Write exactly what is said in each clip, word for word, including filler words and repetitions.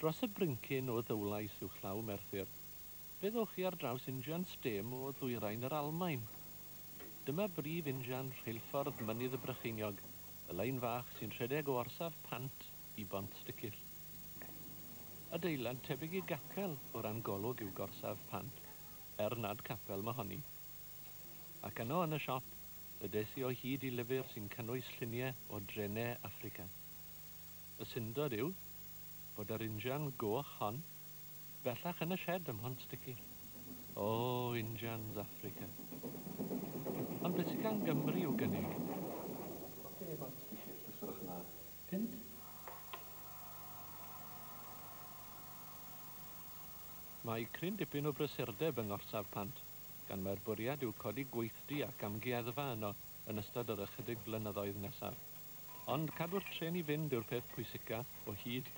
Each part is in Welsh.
Dros y brincyn o Ddowlais uwchlaw Merthyr, fe ddowch chi ar draws injan stêm o ddwyrain yr Almaen. Dyma brif injan rheilffordd Mynydd y Brycheiniog, y lein fach sy'n rhedeg o orsaf Pant i Bont Sticyll. Adeilad tebyg i gapel o ran golwg yw gorsaf Pant, er nad capel mohoni. Ac yno yn y siop, y des i o hyd i lyfr sy'n cynnwys lluniau o drenau Affrica. Y syndod yw bod yr injan goch hon bellach yn y sied ym Mhont Sticyll. O, injans Affrica. Ond beth sydd gan Gymru i'w gynnig? Oce, Bont Sticyll, os gwelwch yn dda. Punt? Mae cryn dipyn o brysurdeb yng ngorsaf Pant, gan mai'r bwriad yw codi gweithdy ac amgueddfa yno yn ystod yr ychydig flynyddoedd nesaf. Ond cadw'r trên i fynd yw'r peth pwysica o hyd.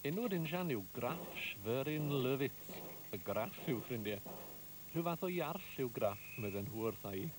Enw'r injan yw Graf Schwerin Lowitz. Y Graff yw ffrindiau. Rhyw fath o iarll yw Graff, medden nhw wrtha i.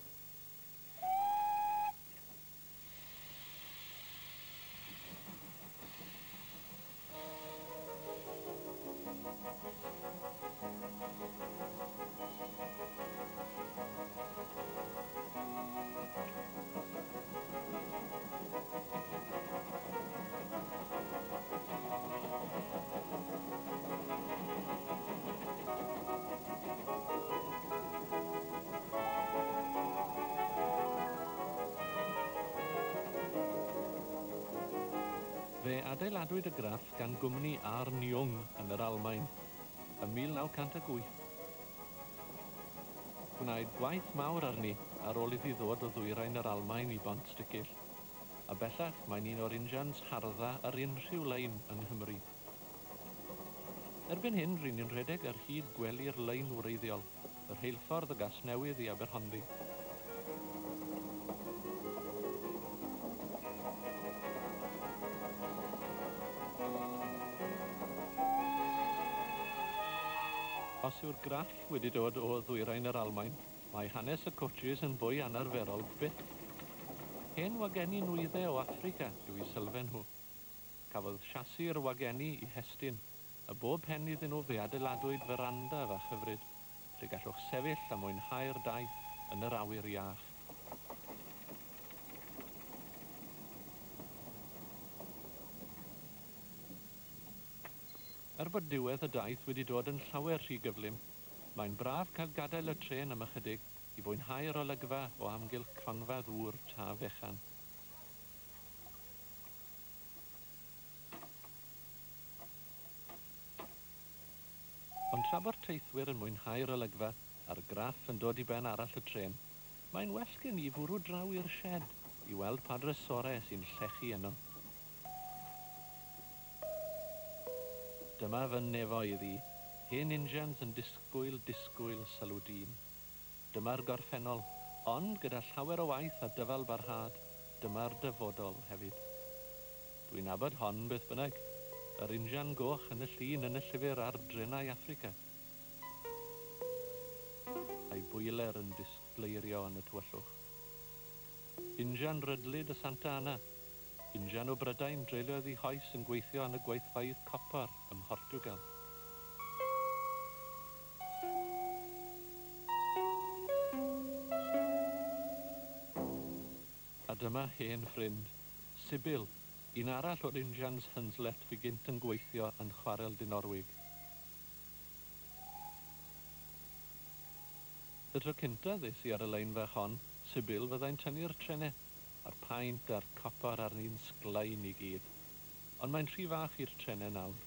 Fe adeiladwyd y Graff gan gwmni Arn Jung yn yr Almaen ym mil naw cant ac wyth. Gwnaed gwaith mawr arni ar ôl iddi ddod o ddwyrain yr Almaen i Bont Sticyll, a bellach mae'n un o'r injans hardda ar unrhyw lein yng Nghymru. Erbyn hyn, ry'n ni'n rhedeg ar hyd gwely'r lein wreiddiol, y rheilffordd o Gasnewydd i Aberhonddu. Os yw'r Graff wedi dod o ddwyrain yr Almaen, mae hanes y coaches yn fwy anarferol byth. Hen wagenni nwyddau o Affrica yw eu sylfaen nhw. Cafodd siasi'r wagenni i hestyn, a bob pen iddyn nhw fe adeiladwyd feranda fach hyfryd, lle gallwch sefyll a mwynhau'r daith yn yr awyr iach. Er bod diwedd y daith wedi dod yn llawer rhy gyflym, mae'n braf cael gadael y trên am ychydig i fwynhau'r olygfa o amgylch cronfa ddŵr Taf Fechan. Ond tra bo'r teithwyr yn mwynhau'r olygfa a'r Graff yn dod i ben arall y trên, mae'n well gen i fwrw draw i'r sied i weld pa drysorau sy'n llechu yno. Dyma fy nefoedd i, hen injans yn disgwyl, disgwyl sylw dyn. Dyma'r gorffennol, ond gyda llawer o waith a dyfal barhad, dyma'r dyfodol hefyd. Dwi'n nabod hon beth bynnag, yr injan goch yn y llun yn y llyfr ar drenau Affrica. A'i bwyler yn disgleirio yn y tywyllwch. Injan rydlyd y Santa Ana, injan o Brydain dreuliodd ei hoes yn gweithio yn y gweithfeydd copor ym Mhortiwgal. A dyma hen ffrind, Sibyl, un arall o'r injans Hunslet fu gynt yn gweithio yn chwarel Dinorwig. Y tro cynta ddes i ar y lein fach hon, Sibyl fyddai'n tynnu'r trenau, a'r paent a'r copor arni'n sglein i gyd. Ond mae'n rhy fach i'r trenau nawr.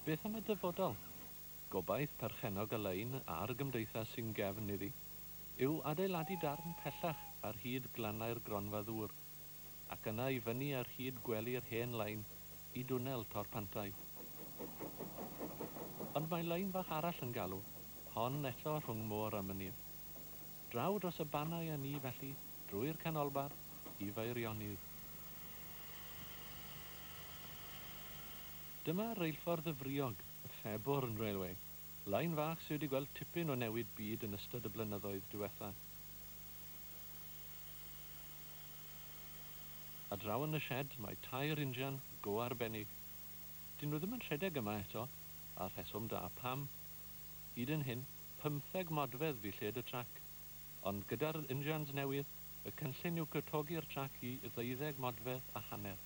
Beth am y dyfodol? Gobaith perchennog y lein a'r gymdeithas sy'n gefn iddi yw adeiladu darn pellach ar hyd glannau'r gronfa ddŵr, ac yna i fyny ar hyd gwely'r hen lein i dwnnel Torpantau. Ond mae lein fach arall yn galw, hon eto rhwng môr a mynydd. Draw dros y bannau â ni felly, drwy'r canolbarth i Feirionnydd. Dyma reilffordd y Friog, y Fairbourne Railway, Lein fach sydd wedi gweld tipyn o newid byd yn ystod y blynyddoedd diwetha. A draw yn y shed mae tair injan go arbennig. Dyn nhw ddim yn rhedeg yma eto, a rheswm da pam. Hyd yn hyn, pymtheg modfedd fu lled y trac, ond gyda'r injans newydd, y cynllun yw cwtogi'r trac i ddeuddeg modfedd a hanner.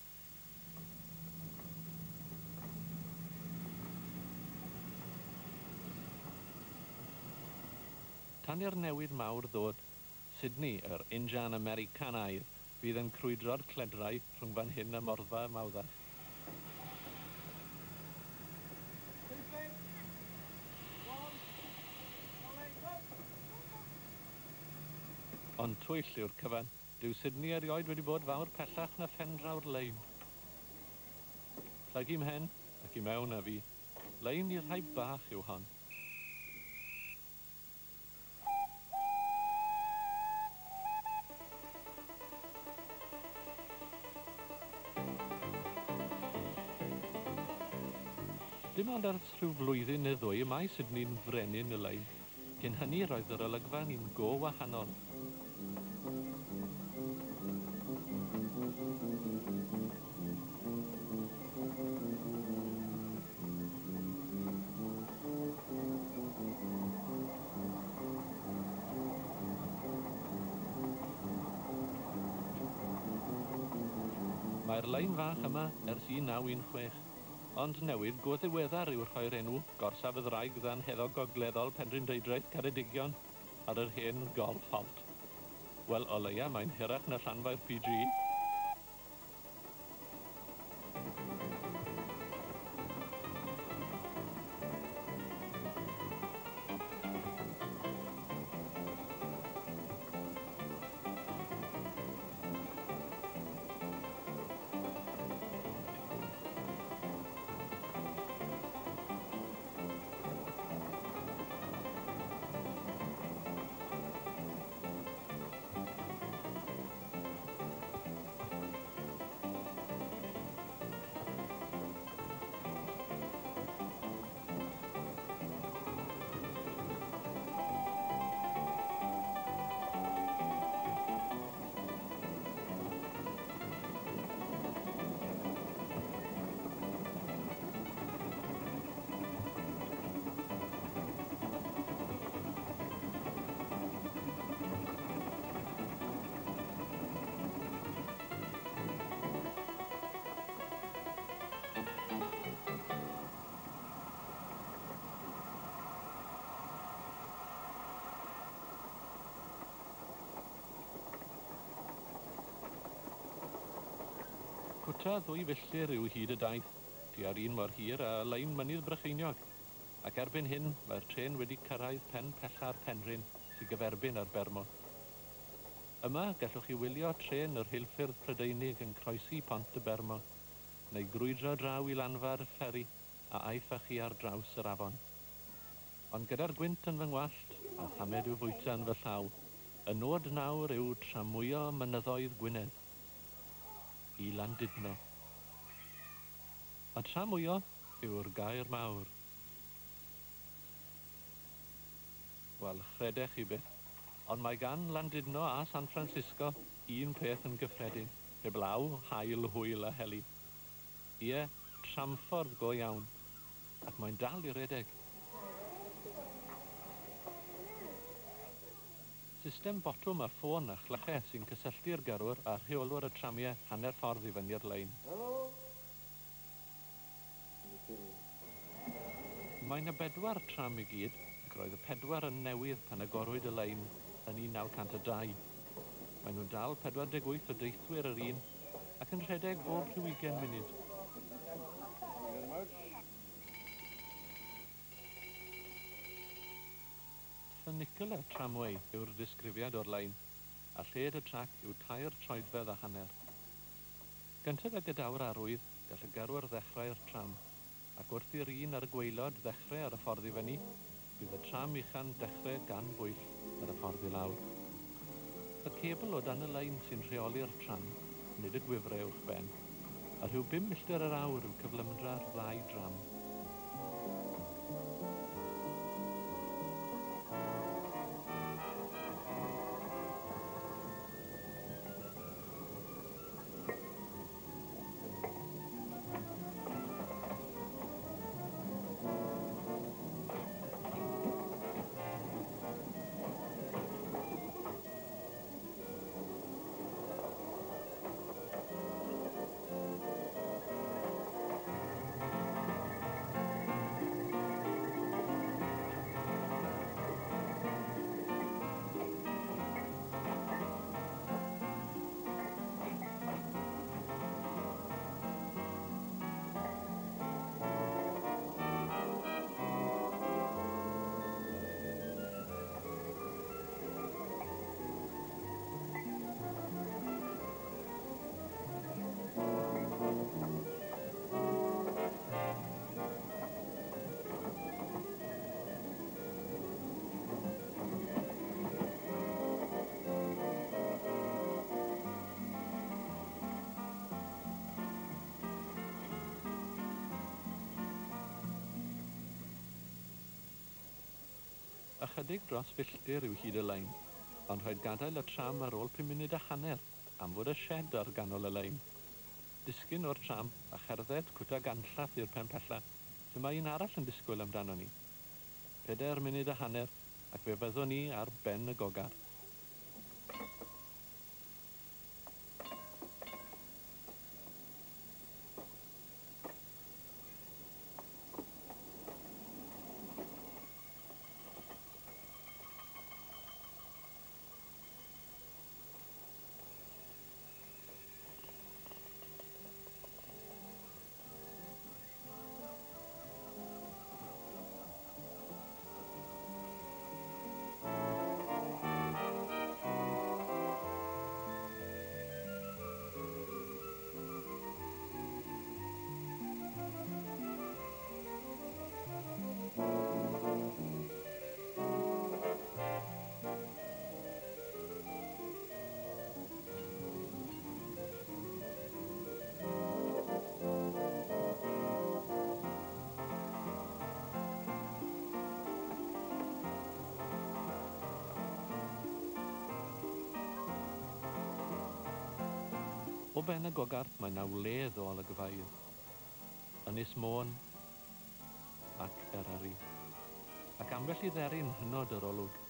Tan i'r newid mawr ddod, Sydney, yr injan Americanaidd, fydd yn crwydro'r cledrau rhwng fan hyn a Morfa Mawddach. Ond twyll yw'r cyfan. Dyw Sydney erioed wedi bod fawr pellach na phendraw'r lein. Plygu mhen ac i mewn â fi. Lein i'r rhai bach yw hon. Dim ond ers rhyw flwyddyn neu ddwy y mae Sydney'n frenin y lein. Cyn hynny roedd yr olygfa'n un go wahanol. Mae'r lein fach yma ers un naw un chwech. Ond newydd go ddiweddar yw rhoi'r enw Gorsaf y Ddraig Ddanheddog Gogleddol Penrhyndeudraeth Ceredigion ar yr hen Golf Halt. Wel, o leia, mae'n hirach na Llanfair P G. Cwta ddwy filltir yw hyd y daith, tua'r un mor hir a lein Mynydd Brycheiniog, ac erbyn hyn mae'r trên wedi cyrraedd pen pella'r Penrhyn sy'n gyferbyn ar Bermo. Yma gallwch chi wylio trên yr rheilffyrdd Prydeinig yn croesi Pont y Bermo, neu grwydro draw i lanfa'r fferi a aiff â chi ar draws yr afon. Ond gyda'r gwynt yn fy ngwallt a thamed i'w fwyta yn fy llaw, y nod nawr yw tramwyo mynyddoedd Gwynedd i Landudno. A tramwyo yw'r gair mawr. Wel, chredech chi byth, ond mae gan Landudno a San Francisco un peth yn gyffredin, heblaw haul, hwyl a heli. Ie, tramffordd go iawn, ac mae'n dal i redeg. System botwm a ffôn a chlychau sy'n cysylltu'r gyrrwr a rheolwr y tramiau hanner ffordd i fyny'r lein. Mae yna bedwar tram i gyd, ac roedd y pedwar yn newydd pan agorwyd y lein yn un naw cant a dau. Maen nhw'n dal pedwar deg wyth o deithwyr yr un ac yn rhedeg bob rhyw ugain munud. Funicular tramway yw'r disgrifiad o'r lein, a lled y trac yw tair troedfedd a hanner. Gyntaf ag y daw'r arwydd, gall y gyrrwr ddechrau'r tram, ac wrth i'r un ar y gwaelod ddechrau ar y ffordd i fyny, bydd y tram uchan dechrau gan bwyll ar y ffordd i lawr. Y cebl o dan y lein sy'n rheoli'r tram, nid y gwifrau uwchben, a rhyw bum milltir yr awr yw cyflymdra'r ddau dram. Ychydig dros filltir yw hyd y lein, ond rhaid gadael y tram ar ôl pum munud a hanner am fod y shed ar ganol y lein. Disgyn o'r tram a cherdded cwta ganllath i'r pen pella, lle mae un arall yn disgwyl amdano ni. Pedair munud a hanner, ac fe fyddwn ni ar ben y Gogarth. O ben y Gogarth mae 'na wledd o olygfeydd, Ynys Môn ac Eryri, ac ambell i dderyn hynod yr olwg.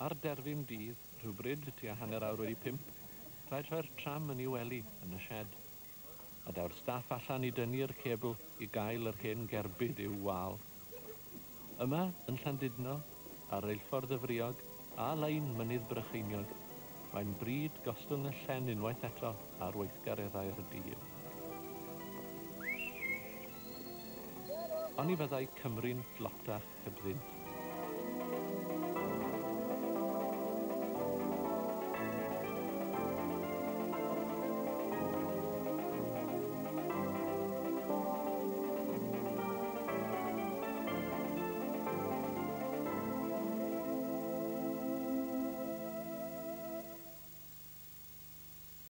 Ar derfyn dydd, rhywbryd tua hanner awr wedi pump, rhaid rhoi'r tram yn ei wely yn y shed. A daw'r staff allan i dynnu'r cebl i gael yr hen gerbyd i'w wal. Yma, yn Llandudno, ar reilffordd y Friog a lein Mynydd Brycheiniog, mae'n bryd gostwng y llen unwaith eto ar weithgareddau'r dydd. Oni fyddai Cymru'n dlotach hebddynt.